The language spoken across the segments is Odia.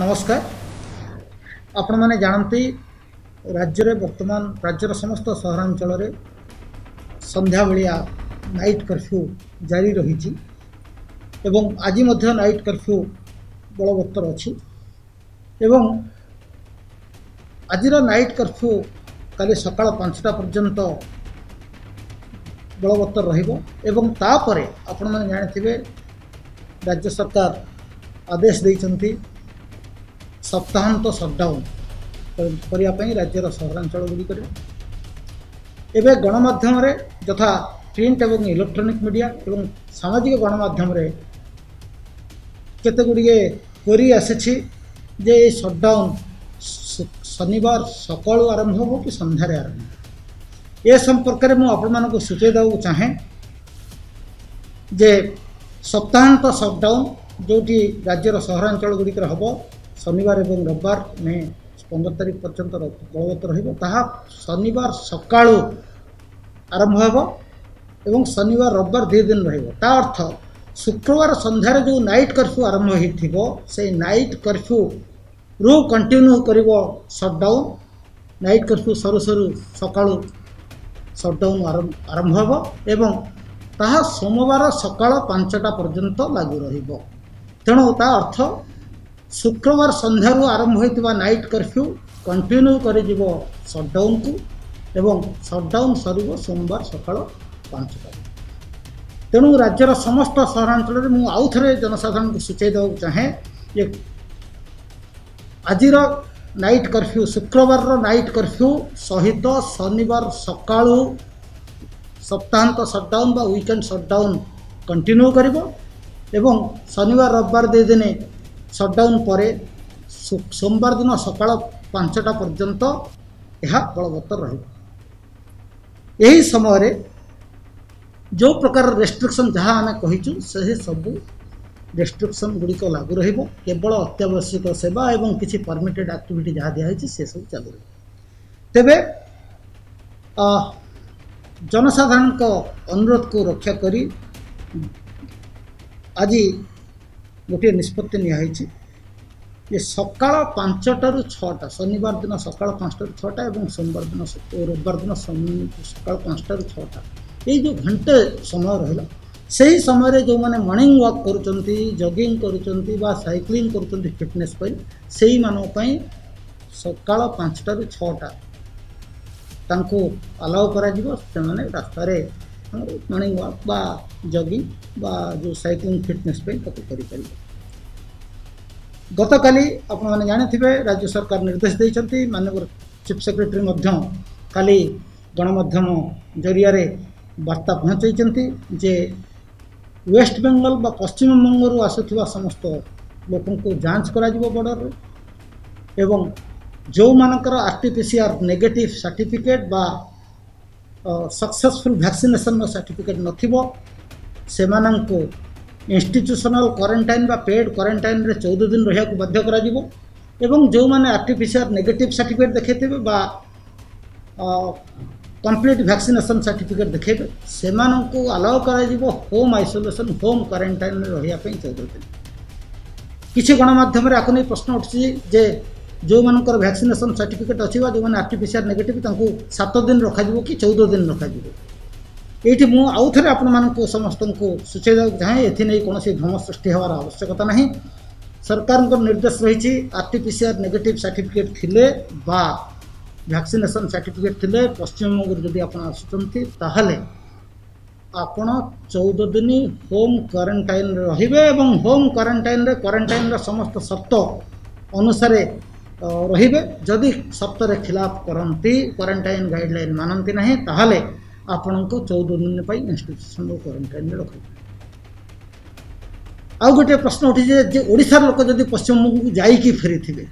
ନମସ୍କାର। ଆପଣମାନେ ଜାଣନ୍ତି, ରାଜ୍ୟରେ ବର୍ତ୍ତମାନ ରାଜ୍ୟର ସମସ୍ତ ସହରାଞ୍ଚଳରେ ସନ୍ଧ୍ୟାବେଳିଆ ନାଇଟ୍ କର୍ଫ୍ୟୁ ଜାରି ରହିଛି ଏବଂ ଆଜି ମଧ୍ୟ ନାଇଟ୍ କର୍ଫ୍ୟୁ ବଳବତ୍ତର ଅଛି ଏବଂ ଆଜିର ନାଇଟ୍ କର୍ଫ୍ୟୁ କାଲି ସକାଳ 5ଟା ପର୍ଯ୍ୟନ୍ତ ବଳବତ୍ତର ରହିବ। ଏବଂ ତାପରେ ଆପଣମାନେ ଜାଣିଥିବେ, ରାଜ୍ୟ ସରକାର ଆଦେଶ ଦେଇଛନ୍ତି ସପ୍ତାହାନ୍ତ ସଟ୍ଡାଉନ୍ କରିବା ପାଇଁ ରାଜ୍ୟର ସହରାଞ୍ଚଳ ଗୁଡ଼ିକରେ। ଏବେ ଗଣମାଧ୍ୟମରେ ଯଥା ପ୍ରିଣ୍ଟ ଏବଂ ଇଲେକ୍ଟ୍ରୋନିକ୍ ମିଡ଼ିଆ ଏବଂ ସାମାଜିକ ଗଣମାଧ୍ୟମରେ କେତେ ଗୁଡ଼ିଏ କ୍ୱେରି ଆସିଛି ଯେ ଏଇ ସଟ୍ଡାଉନ୍ ଶନିବାର ସକାଳୁ ଆରମ୍ଭ ହେବ କି ସନ୍ଧ୍ୟାରେ ଆରମ୍ଭ ହେବ। ଏ ସମ୍ପର୍କରେ ମୁଁ ଆପଣମାନଙ୍କୁ ସୂଚାଇ ଦେବାକୁ ଚାହେଁ ଯେ ସପ୍ତାହାନ୍ତ ସଟ୍ଡାଉନ୍ ଯେଉଁଠି ରାଜ୍ୟର ସହରାଞ୍ଚଳ ଗୁଡ଼ିକରେ ହେବ, ଶନିବାର ଏବଂ ରବିବାର ମେ 15 ତାରିଖ ପର୍ଯ୍ୟନ୍ତ ବଳବତ୍ତର ରହିବ, ତାହା ଶନିବାର ସକାଳୁ ଆରମ୍ଭ ହେବ ଏବଂ ଶନିବାର ରବିବାର 2 ଦିନ ରହିବ। ତା ଅର୍ଥ ଶୁକ୍ରବାର ସନ୍ଧ୍ୟାରେ ଯେଉଁ ନାଇଟ୍ କର୍ଫ୍ୟୁ ଆରମ୍ଭ ହୋଇଥିବ, ସେଇ ନାଇଟ୍ କର୍ଫ୍ୟୁରୁ କଣ୍ଟିନ୍ୟୁ କରିବ ସଟ୍ଡାଉନ୍। ନାଇଟ୍ କର୍ଫ୍ୟୁ ସରୁ ସରୁ ସକାଳୁ ସଟ୍ଡାଉନ୍ ଆରମ୍ଭ ହେବ ଏବଂ ତାହା ସୋମବାର ସକାଳ 5ଟା ପର୍ଯ୍ୟନ୍ତ ଲାଗୁ ରହିବ। ତେଣୁ ତା ଅର୍ଥ ଶୁକ୍ରବାର ସନ୍ଧ୍ୟାରୁ ଆରମ୍ଭ ହୋଇଥିବା ନାଇଟ୍ କର୍ଫ୍ୟୁ କଣ୍ଟିନ୍ୟୁ କରିଯିବ ସଟ୍ଡାଉନ୍କୁ ଏବଂ ସଟ୍ଡାଉନ୍ ସରିବ ସୋମବାର ସକାଳ 5ଟା। ତେଣୁ ରାଜ୍ୟର ସମସ୍ତ ସହରାଞ୍ଚଳରେ ମୁଁ ଆଉ ଥରେ ଜନସାଧାରଣଙ୍କୁ ସୂଚାଇ ଦେବାକୁ ଚାହେଁ ଯେ ଆଜିର ନାଇଟ୍ କର୍ଫ୍ୟୁ, ଶୁକ୍ରବାରର ନାଇଟ୍ କର୍ଫ୍ୟୁ ସହିତ ଶନିବାର ସକାଳୁ ସପ୍ତାହାନ୍ତ ସଟ୍ଡାଉନ୍ ବା ୱିକେଣ୍ଡ ସଟ୍ଡାଉନ୍ କଣ୍ଟିନ୍ୟୁ କରିବ ଏବଂ ଶନିବାର ରବିବାର 2 ଦିନ ସଟ୍ଡାଉନ୍ ପରେ ସୋମବାର ଦିନ ସକାଳ 5ଟା ପର୍ଯ୍ୟନ୍ତ ଏହା ବଳବତ୍ତର ରହିବ। ଏହି ସମୟରେ ଯେଉଁ ପ୍ରକାର ରେଷ୍ଟ୍ରିକ୍ସନ୍ ଯାହା ଆମେ କହିଛୁ, ସେହି ସବୁ ରେଷ୍ଟ୍ରିକ୍ସନ୍ ଗୁଡ଼ିକ ଲାଗୁ ରହିବ। କେବଳ ଅତ୍ୟାବଶ୍ୟକ ସେବା ଏବଂ କିଛି ପରମିଟେଡ଼ ଆକ୍ଟିଭିଟି ଯାହା ଦିଆହେଇଛି, ସେସବୁ ଚାଲୁ ରହିବ। ତେବେ ଜନସାଧାରଣଙ୍କ ଅନୁରୋଧକୁ ରକ୍ଷା କରି ଆଜି ଗୋଟିଏ ନିଷ୍ପତ୍ତି ନିଆହେଇଛି ଯେ ସକାଳ 5ଟାରୁ 6ଟା, ଶନିବାର ଦିନ ସକାଳ 5ଟାରୁ 6ଟା ଏବଂ ସୋମବାର ଦିନ, ରବିବାର ଦିନ ସକାଳ 5ଟାରୁ 6ଟା, ଏଇ ଯେଉଁ ଘଣ୍ଟେ ସମୟ ରହିଲା, ସେହି ସମୟରେ ଯେଉଁମାନେ ମର୍ଣ୍ଣିଂ ୱାକ୍ କରୁଛନ୍ତି, ଜଗିଂ କରୁଛନ୍ତି ବା ସାଇକ୍ଲିଂ କରୁଛନ୍ତି ଫିଟନେସ୍ ପାଇଁ, ସେଇମାନଙ୍କ ପାଇଁ ସକାଳ 5ଟାରୁ 6ଟା ତାଙ୍କୁ ଆଲାଉ କରାଯିବ। ସେମାନେ ରାସ୍ତାରେ ମର୍ଣ୍ଣିଂ ୱାକ୍ ବା ଜଗିଂ ବା ଯେଉଁ ସାଇକ୍ଲିଂ ଫିଟନେସ୍ ପାଇଁ ତାକୁ କରିପାରିବେ। ଗତକାଲି ଆପଣମାନେ ଜାଣିଥିବେ, ରାଜ୍ୟ ସରକାର ନିର୍ଦ୍ଦେଶ ଦେଇଛନ୍ତି, ମାନ୍ୟବର ଚିଫ୍ ସେକ୍ରେଟାରୀ ମଧ୍ୟ କାଲି ଗଣମାଧ୍ୟମ ଜରିଆରେ ବାର୍ତ୍ତା ପହଞ୍ଚାଇଛନ୍ତି ଯେ ୱେଷ୍ଟବେଙ୍ଗଲ ବା ପଶ୍ଚିମବଙ୍ଗରୁ ଆସୁଥିବା ସମସ୍ତ ଲୋକଙ୍କୁ ଯାଞ୍ଚ କରାଯିବ ବର୍ଡ଼ରରେ ଏବଂ ଯେଉଁମାନଙ୍କର RT-PCR negative certificate ବା ସକ୍ସେସଫୁଲ୍ ଭ୍ୟାକ୍ସିନେସନ୍ର ସାର୍ଟିଫିକେଟ୍ ନଥିବ, ସେମାନଙ୍କୁ ଇନଷ୍ଟିଚ୍ୟୁସନାଲ୍ କ୍ୱାରେଣ୍ଟାଇନ୍ ବା ପେଡ୍ କ୍ୱାରେଣ୍ଟାଇନ୍ରେ 14 ଦିନ ରହିବାକୁ ବାଧ୍ୟ କରାଯିବ। ଏବଂ ଯେଉଁମାନେ RT-PCR negative certificate ଦେଖାଇଥିବେ ବା କମ୍ପ୍ଲିଟ୍ ଭ୍ୟାକ୍ସିନେସନ୍ ସାର୍ଟିଫିକେଟ୍ ଦେଖାଇବେ, ସେମାନଙ୍କୁ ଆଲାଉ କରାଯିବ ହୋମ୍ ଆଇସୋଲେସନ୍, ହୋମ୍ କ୍ୱାରେଣ୍ଟାଇନ୍ରେ ରହିବା ପାଇଁ 14 ଦିନ। କିଛି ଗଣମାଧ୍ୟମରେ ଆକୁ ନେଇ ପ୍ରଶ୍ନ ଉଠୁଛି ଯେ ଯେଉଁମାନଙ୍କର ଭ୍ୟାକ୍ସିନେସନ୍ ସାର୍ଟିଫିକେଟ୍ ଅଛି ବା ଯେଉଁମାନେ RT-PCR negative, ତାଙ୍କୁ 7 ଦିନ ରଖାଯିବ କି 14 ଦିନ ରଖାଯିବ? ଏଇଠି ମୁଁ ଆଉ ଥରେ ଆପଣମାନଙ୍କୁ ସମସ୍ତଙ୍କୁ ସୂଚାଇ ଦେବାକୁ ଚାହେଁ, ଏଥିନେଇ କୌଣସି ଭ୍ରମ ସୃଷ୍ଟି ହେବାର ଆବଶ୍ୟକତା ନାହିଁ। ସରକାରଙ୍କ ନିର୍ଦ୍ଦେଶ ରହିଛି, RT-PCR negative certificate ଥିଲେ ବା ଭ୍ୟାକ୍ସିନେସନ୍ ସାର୍ଟିଫିକେଟ୍ ଥିଲେ ପଶ୍ଚିମବଙ୍ଗରୁ ଯଦି ଆପଣ ଆସୁଛନ୍ତି, ତାହେଲେ ଆପଣ 14 ଦିନ ହୋମ୍ କ୍ୱାରେଣ୍ଟାଇନ୍ରେ ରହିବେ ଏବଂ ହୋମ୍ କ୍ୱାରେଣ୍ଟାଇନ୍ରେ କ୍ୱାରେଣ୍ଟାଇନ୍ର ସମସ୍ତ ସର୍ତ୍ତ ଅନୁସାରେ ରହିବେ। ଯଦି ସର୍ତ୍ତରେ ଖିଲାପ କରନ୍ତି, କ୍ୱାରେଣ୍ଟାଇନ୍ ଗାଇଡ଼ଲାଇନ୍ ମାନନ୍ତି ନାହିଁ, ତାହେଲେ ଆପଣଙ୍କୁ 14 ଦିନ ପାଇଁ ଇନଷ୍ଟିଟ୍ୟୁସନାଲ୍ କ୍ୱାରେଣ୍ଟାଇନ୍ରେ ରଖାଯିବ। ଆଉ ଗୋଟିଏ ପ୍ରଶ୍ନ ଉଠିଛି ଯେ ଓଡ଼ିଶାର ଲୋକ ଯଦି ପଶ୍ଚିମବଙ୍ଗକୁ ଯାଇକି ଫେରିଥିବେ,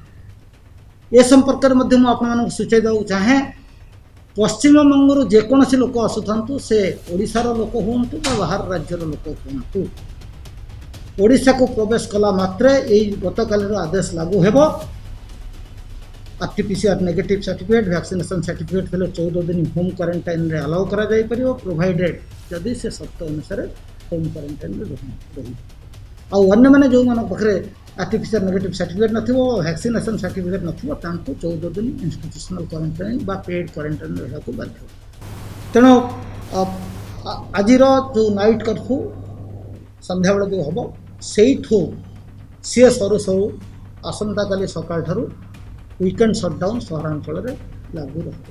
ଏ ସମ୍ପର୍କରେ ମଧ୍ୟ ମୁଁ ଆପଣମାନଙ୍କୁ ସୂଚାଇ ଦେବାକୁ ଚାହେଁ। ପଶ୍ଚିମବଙ୍ଗରୁ ଯେକୌଣସି ଲୋକ ଆସୁଥାନ୍ତୁ, ସେ ଓଡ଼ିଶାର ଲୋକ ହୁଅନ୍ତୁ ବା ବାହାର ରାଜ୍ୟର ଲୋକ ହୁଅନ୍ତୁ, ଓଡ଼ିଶାକୁ ପ୍ରବେଶ କଲା ମାତ୍ରେ ଏଇ ଗତକାଲିର ଆଦେଶ ଲାଗୁ ହେବ। RT-PCR negative certificate, vaccination certificate ଥିଲେ 14 ଦିନ ହୋମ୍ କ୍ୱାରେଣ୍ଟାଇନ୍ରେ ଆଲାଉ କରାଯାଇପାରିବ, ପ୍ରୋଭାଇଡେଡ଼ ଯଦି ସେ ସର୍ତ୍ତ ଅନୁସାରେ ହୋମ୍ କ୍ୱାରେଣ୍ଟାଇନ୍ରେ ରହିବ। ଆଉ ଅନ୍ୟମାନେ ଯେଉଁମାନଙ୍କ ପାଖରେ ଆର୍ଟିପିସିଆର୍ ନେଗେଟିଭ୍ ସାର୍ଟିଫିକେଟ୍ ନଥିବ, ଭ୍ୟାକ୍ସିନେସନ୍ ସାର୍ଟିଫିକେଟ୍ ନଥିବ, ତାଙ୍କୁ 14 ଦିନ ଇନଷ୍ଟିଟ୍ୟୁସନାଲ୍ କ୍ୱାରେଣ୍ଟାଇନ୍ ବା ପେଡ୍ କ୍ୱାରେଣ୍ଟାଇନ୍ ରହିବାକୁ ବାଧ୍ୟ। ତେଣୁ ଆଜିର ଯେଉଁ ନାଇଟ୍ କର୍ଫ୍ୟୁ ସନ୍ଧ୍ୟାବେଳେ ଯେଉଁ ହେବ, ସେଇଠୁ ସିଏ ସରୁ ସରୁ ଆସନ୍ତାକାଲି ସକାଳଠାରୁ ୱିକେଣ୍ଡ ସଟ୍ଡାଉନ୍ ସହରାଞ୍ଚଳରେ ଲାଗୁ ରହିବ।